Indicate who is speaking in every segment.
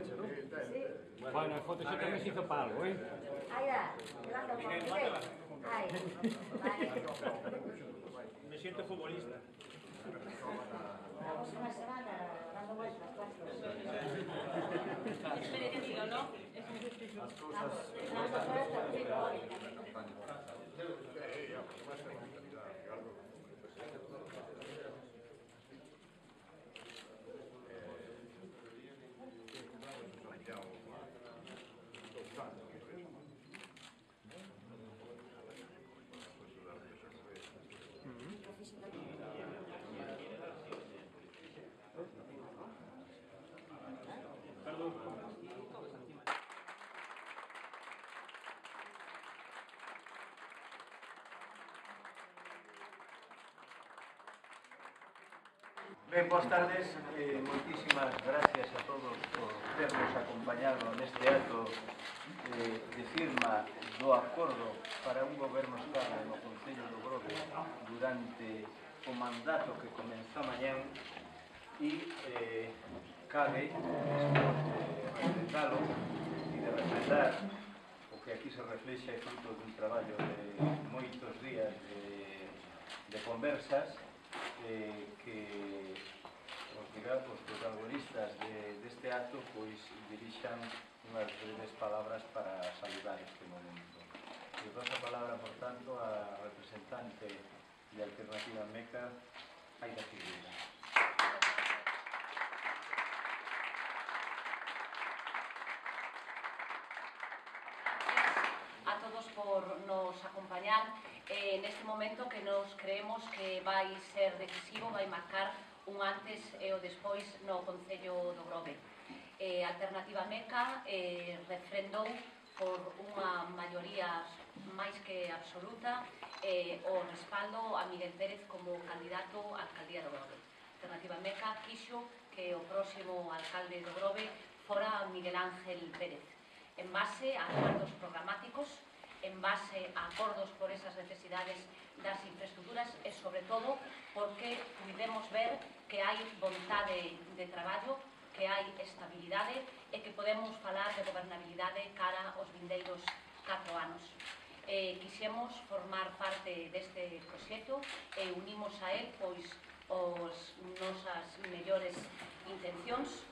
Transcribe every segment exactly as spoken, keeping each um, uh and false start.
Speaker 1: fecha, ¿no?
Speaker 2: Sí.
Speaker 3: Bueno, el foto tamén se hizo para algo, eh?
Speaker 2: Ahí da, levanta un poco. Ahí, vale.
Speaker 1: Me siento futbolista.
Speaker 2: Vamos una semana dando vueltas, cuatro.
Speaker 4: Es merecido, ¿no?
Speaker 2: Las cosas... Las cosas sí, hoy.
Speaker 5: Ben, boas tardes, eh, moitísimas gracias a todos por ternos acompañado neste acto eh, de firma do acordo para un goberno estable no Concello do Grove durante o mandato que comeza mañán e eh, cabe, despois de refrendalo e de refrendar o que aquí se reflexa é fruto dun traballo de moitos días de, de conversas eh, que os, digamos, os protagonistas de, deste acto pois dirixan unhas breves palabras para saludar este momento. E paso a palabra, por tanto, a representante de Alternativa Meca, Aida Figueira.
Speaker 4: A todos por nos acompañar eh, neste momento que nos creemos que vai ser decisivo, vai marcar un antes e o despois no Concello do Grove. Eh, Alternativa Meca eh, refrendou por unha maioría máis que absoluta eh, o respaldo a Miguel Pérez como candidato á alcaldía do Grove. Alternativa Meca quixo que o próximo alcalde do Grove fora Miguel Ángel Pérez, en base a acordos programáticos, en base a acordos por esas necesidades das infraestructuras e, sobre todo, porque pudemos ver que hai vontade de traballo, que hai estabilidade e que podemos falar de gobernabilidade cara aos vindeiros catro anos. Eh, quixemos formar parte deste proxecto e unimos a él pois os nosas mellores intencións,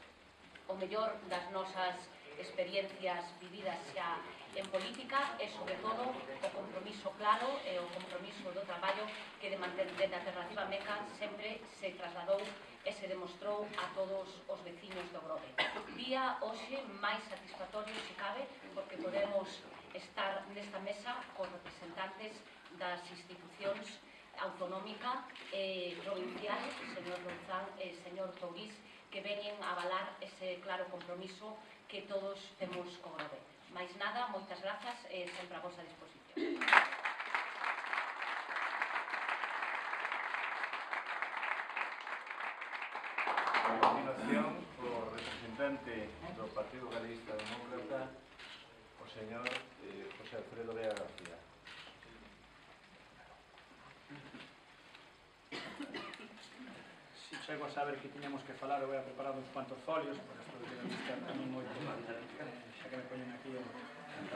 Speaker 4: o mellor das nosas experiencias vividas xa en política e, sobre todo, o compromiso claro e o compromiso do traballo que de manter a Alternativa Meca sempre se trasladou e se demostrou a todos os veciños do Grove. Día hoxe máis satisfactorio, se cabe, porque podemos estar nesta mesa con representantes das institucións autonómica e provincial, señor Louzán e señor Tourís, que veñen a avalar ese claro compromiso que todos temos co Grove. Mais nada, moitas grazas e sempre a vosa disposición.
Speaker 5: A continuación, o representante do Partido Galeguista Demócrata, o señor eh, José Alfredo Vega García.
Speaker 1: Si chego a saber que tiñamos que falar, eu voy a preparar uns cuantos folios, porque esto de vista tamén moito, xa que me poñen aquí o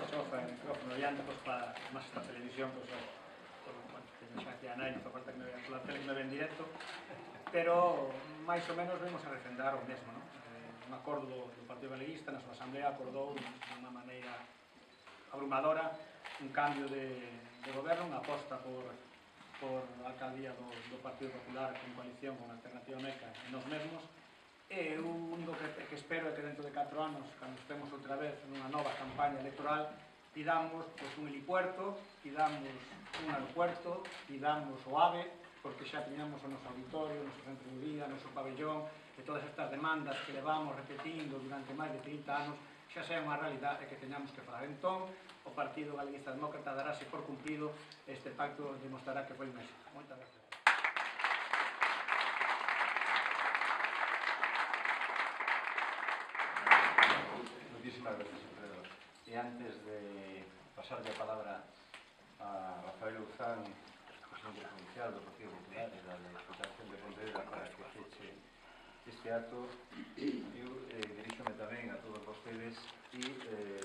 Speaker 1: chofa, o micrófono diante, pois para máis esta televisión, pois bueno, teño xa aquí a nai, non fa falta que me vean pola tele, que me ven directo, pero máis ou menos vemos a refrendar o mesmo, non? Eh, un acordo do, do Partido Galeguista na súa asamblea acordou de unha maneira abrumadora un cambio de, de goberno, unha aposta por por a alcaldía do, do Partido Popular con coalición con Alternativa Meca e nos mesmos, e o único que, que espero é que dentro de catro anos, cando estemos outra vez nunha nova campaña electoral, pidamos pues, un helipuerto, pidamos un aeropuerto, pidamos o AVE, porque xa teñamos o noso auditorio, o noso centro de día, o noso pabellón, e todas estas demandas que levamos repetindo durante máis de trinta anos, xa sea unha realidade que teñamos que falar. Entón, o Partido Galeguista Demócrata darase por cumprido este pacto, demostrará que foi un éxito. Moitas gracias.
Speaker 5: Moitísimas gracias, Alfredo. E antes de pasarle a palabra a Rafael Louzán, presidente provincial do Partido Popular e da Deputación de Pontevedra, para que feche este acto, eu eh, diríxome tamén a todos vostedes e eh,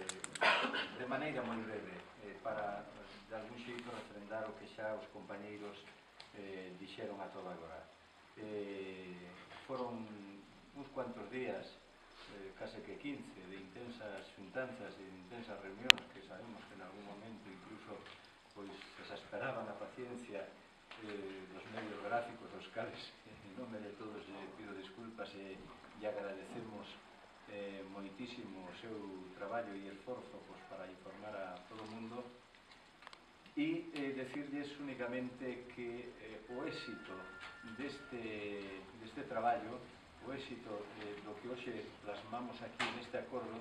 Speaker 5: de maneira moi breve eh, para de algún xeito refrendar o que xa os compañeiros eh, dixeron a toda agora. Eh, foron uns cuantos días, eh, case que quince, de intensas xuntanzas e de intensas reunións que sabemos que en algún momento incluso pois exasperaban a paciencia eh, dos medios gráficos, dos cales en nome de todos eh, pido disculpas e, e agradecemos eh, moitísimo o seu traballo e esforzo pois, para informar a todo o mundo e eh, decirles únicamente que eh, o éxito deste, deste traballo, o éxito eh, do que hoxe plasmamos aquí neste acordo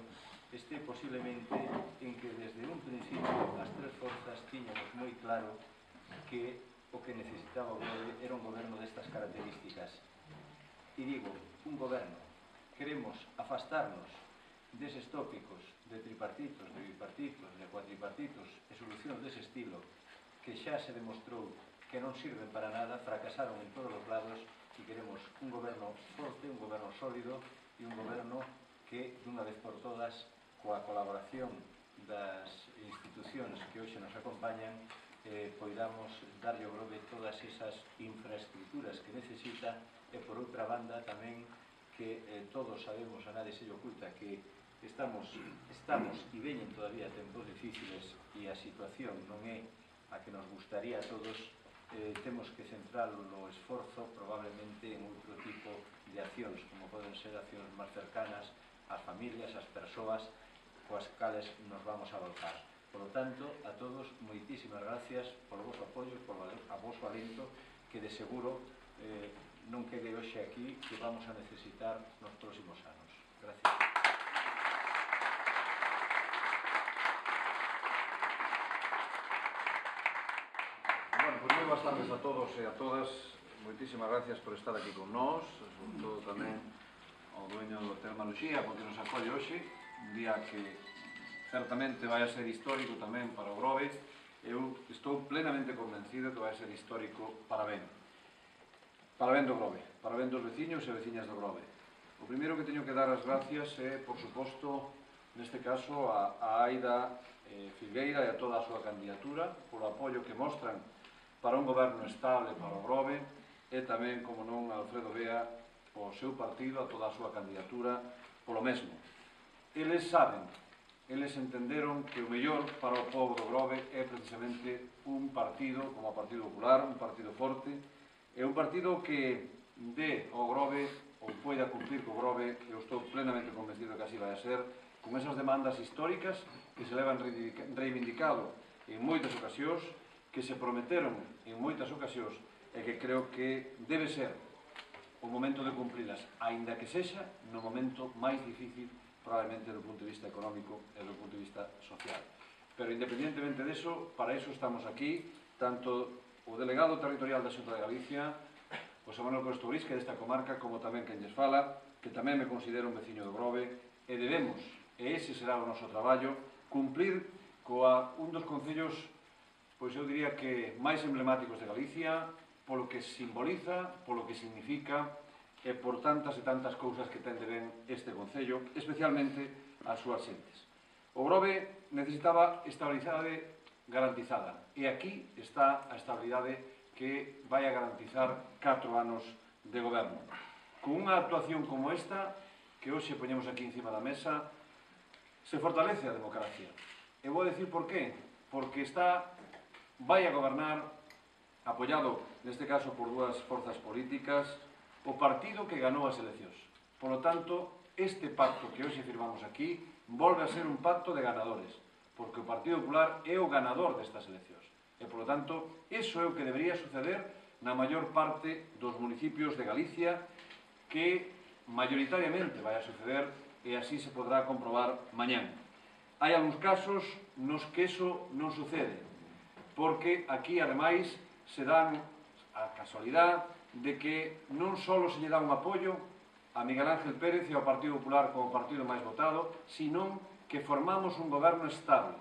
Speaker 5: este posiblemente en que desde un principio as tres forzas tiñamos moi claro que o que necesitaba o Grove era un goberno destas características. E digo, un goberno, queremos afastarnos deses tópicos de tripartitos, de bipartitos, de cuatripartitos e solucións dese estilo que xa se demostrou que non sirven para nada, fracasaron en todos os lados e queremos un goberno forte, un goberno sólido e un goberno que, dunha vez por todas, coa colaboración das institucións que hoxe nos acompañan, eh, poidamos darlle ao Grove todas esas infraestructuras que necesita e, por outra banda, tamén que eh, todos sabemos, a nadie se lle oculta, que estamos, estamos e veñen todavía tempos difíciles e a situación non é a que nos gustaría a todos, eh, temos que centrar o esforzo probablemente en outro tipo de accións, como poden ser accións máis cercanas ás familias, ás persoas coas cales nos vamos a volcar. Por lo tanto, a todos, moitísimas gracias polo vosso apoio, polo a vosso alento, que de seguro eh, non quede hoxe aquí, que vamos a necesitar nos próximos anos. Gracias.
Speaker 6: Bueno, pues moi boas tardes a todos e a todas. Moitísimas gracias por estar aquí con nós, sobre todo tamén ao dueño do Hotel Maruxía, porque nos acolle hoxe, un día que certamente vai a ser histórico tamén para o Grove. Eu estou plenamente convencido que vai a ser histórico para ben. Para ben do Grove, para ben dos veciños e veciñas do Grove. O primeiro que teño que dar as gracias é, por suposto, neste caso, a, a Aida eh, Filgueira e a toda a súa candidatura, polo apoio que mostran para un goberno estable para o Grove, e tamén, como non, a Alfredo Bea, o seu partido, a toda a súa candidatura, polo mesmo. Eles saben, eles entenderon que o mellor para o povo do Grove é precisamente un partido como o Partido Popular, un partido forte, é un partido que dé ao Grove ou poida cumplir co Grove, eu estou plenamente convencido que así vai a ser, con esas demandas históricas que se levan reivindicado en moitas ocasións, que se prometeron en moitas ocasións e que creo que debe ser o momento de cumprilas, aínda que sexa no momento máis difícil probablemente do punto de vista económico e do punto de vista social. Pero independientemente deso, para eso estamos aquí, tanto o delegado territorial da Xunta de Galicia, José Manuel Costovís, que é desta comarca, como tamén quen lles fala, que tamén me considero un veciño do Grove, e debemos, e ese será o noso traballo, cumplir coa un dos concellos, pois eu diría que máis emblemáticos de Galicia, polo que simboliza, polo que significa, e por tantas e tantas cousas que ten de ben este concello, especialmente as súas xentes. O Grove necesitaba estabilidade garantizada, e aquí está a estabilidade que vai a garantizar catro anos de goberno. Con unha actuación como esta, que hoxe poñemos aquí encima da mesa, se fortalece a democracia. E vou a decir por qué. Porque está, vai a gobernar, apoiado, neste caso, por dúas forzas políticas, o partido que ganou as eleccións. Por lo tanto, este pacto que hoxe firmamos aquí volve a ser un pacto de ganadores, porque o Partido Popular é o ganador destas eleccións. E, por lo tanto, iso é o que debería suceder na maior parte dos municipios de Galicia, que maioritariamente vai a suceder, e así se podrá comprobar mañán. Hai algúns casos nos que iso non sucede, porque aquí, ademais, se dan a casualidade de que non só se lle dá un apoio a Miguel Ángel Pérez e ao Partido Popular como partido máis votado, sino que formamos un goberno estable,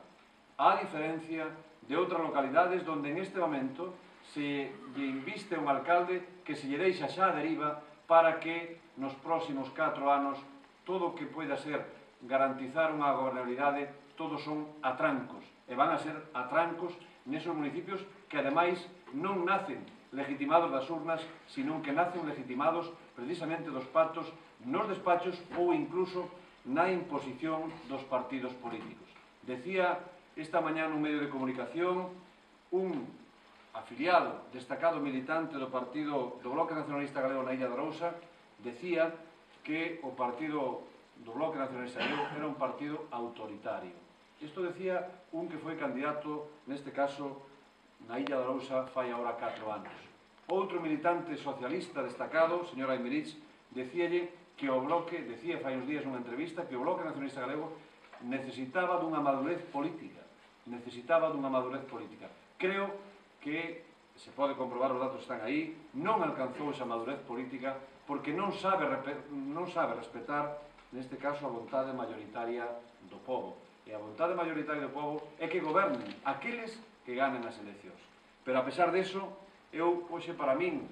Speaker 6: a diferencia de outras localidades onde en este momento se lle inviste un alcalde que se lle deixa xa a deriva para que nos próximos catro anos todo o que poida ser garantizar unha gobernabilidade, todos son atrancos, e van a ser atrancos nesos municipios que, ademais, non nacen legitimados das urnas, sino que nacen legitimados precisamente dos pactos nos despachos ou incluso na imposición dos partidos políticos. Decía esta mañá nun medio de comunicación un afiliado, destacado militante do partido do Bloque Nacionalista Galego na Illa de Arousa, decía que o partido do Bloque Nacionalista Galego era un partido autoritario. Isto decía un que foi candidato, neste caso, na Illa de Arousa fai agora catro anos. Outro militante socialista destacado, señor Aymerich, decíalle que o Bloque, decía fai uns días nunha entrevista, que o Bloque Nacionalista Galego necesitaba dunha madurez política. Necesitaba dunha madurez política. Creo que, se pode comprobar, os datos están aí, non alcanzou esa madurez política porque non sabe, non sabe respetar, neste caso, a vontade mayoritaria do povo. E a vontade mayoritaria do povo é que gobernen aqueles que ganen as eleccións. Pero, a pesar deso, eu, hoxe, para min,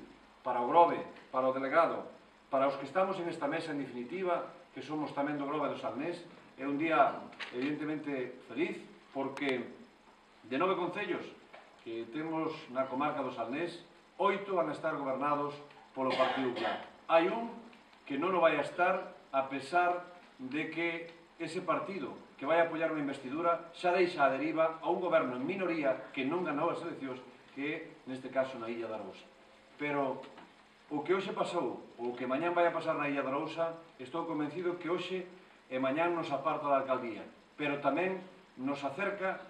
Speaker 6: para o Grove, para o delegado, para os que estamos en esta mesa, en definitiva, que somos tamén do Grove do Salnés, é un día, evidentemente, feliz, porque de nove concellos que temos na comarca do Salnés, oito van a estar gobernados polo Partido Popular. Hai un que non o vai a estar a pesar de que ese partido que vai a apoiar unha investidura xa deixa a deriva a un goberno en minoría que non ganou as eleccións, que é, neste caso, na Illa de Arousa. Pero o que hoxe pasou, ou o que mañán vai a pasar na Illa de Arousa, estou convencido que hoxe e mañán nos aparta da alcaldía, pero tamén nos acerca,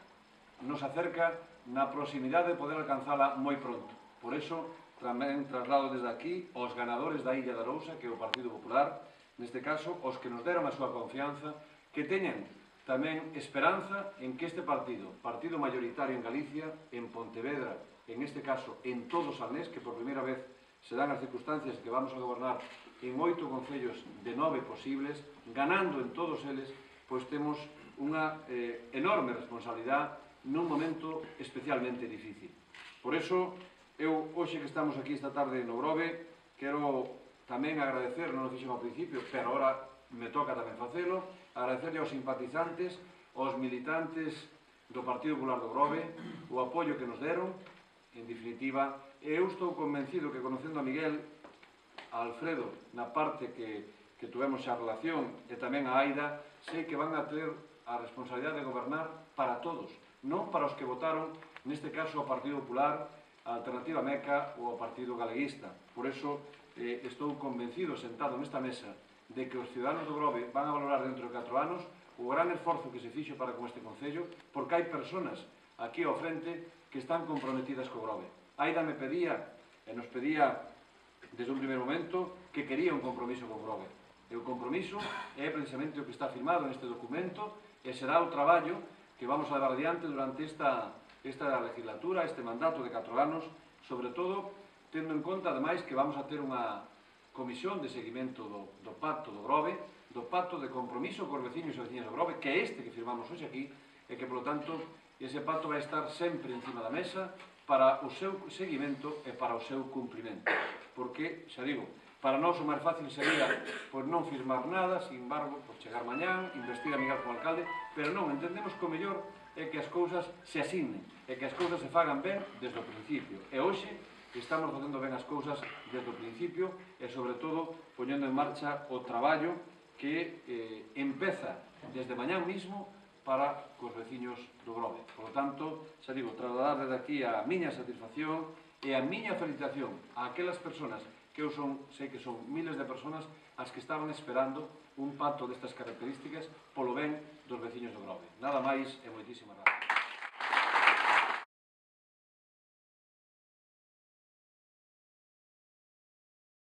Speaker 6: nos acerca na proximidade de poder alcanzala moi pronto. Por eso, tamén traslado desde aquí aos ganadores da Illa de Arousa, que é o Partido Popular, neste caso, os que nos deron a súa confianza, que teñan tamén esperanza en que este partido, partido mayoritario en Galicia, en Pontevedra, en este caso, en todo o Salnés, que por primeira vez se dan as circunstancias que vamos a gobernar en oito concellos de nove posibles, ganando en todos eles, pois temos unha eh, enorme responsabilidade nun momento especialmente difícil. Por eso, eu, hoxe que estamos aquí esta tarde no Grove, quero tamén agradecer, non o fixen ao principio, pero agora me toca tamén facelo, agradecerle aos simpatizantes, aos militantes do Partido Popular do Grove, o apoio que nos deron, en definitiva, e eu estou convencido que, conocendo a Miguel, a Alfredo, na parte que, que tuvemos a relación, e tamén a Aida, sei que van a ter a responsabilidade de gobernar para todos, non para os que votaron, neste caso, ao Partido Popular, a Alternativa Meca ou ao Partido Galeguista. Por eso, eh, estou convencido, sentado nesta mesa, de que os ciudadanos do Grove van a valorar dentro de catro anos o gran esforzo que se fixo para con este Concello, porque hai persoas aquí ao frente que están comprometidas co Grove. Aida me pedía, e nos pedía desde un primeiro momento, que quería un compromiso co Grove. E o compromiso é precisamente o que está firmado neste documento e será o traballo que vamos a levar adiante durante esta, esta legislatura, este mandato de catro anos, sobre todo tendo en conta, ademais, que vamos a ter unha comisión de seguimento do, do pacto do Grove, do pacto de compromiso cos veciños e veciñas do Grove, que é este que firmamos hoxe aquí, e que, polo tanto, ese pacto vai estar sempre encima da mesa para o seu seguimento e para o seu cumprimento. Porque, xa digo, para nós o máis fácil sería pois, non firmar nada, sin embargo, pois, chegar mañán, investir a Miguel como alcalde, pero non, entendemos que o mellor é que as cousas se asignen, e que as cousas se fagan ben desde o principio. E hoxe estamos facendo ben as cousas desde o principio e, sobre todo, poñendo en marcha o traballo que eh, empeza desde mañán mismo para cos veciños do Grove. Por lo tanto, xa digo, trasladar desde aquí a miña satisfacción e a miña felicitación a aquelas persoas que eu son, sei que son miles de persoas as que estaban esperando un pacto destas características polo ben dos veciños do Grove. Nada máis e moitísimas gracias.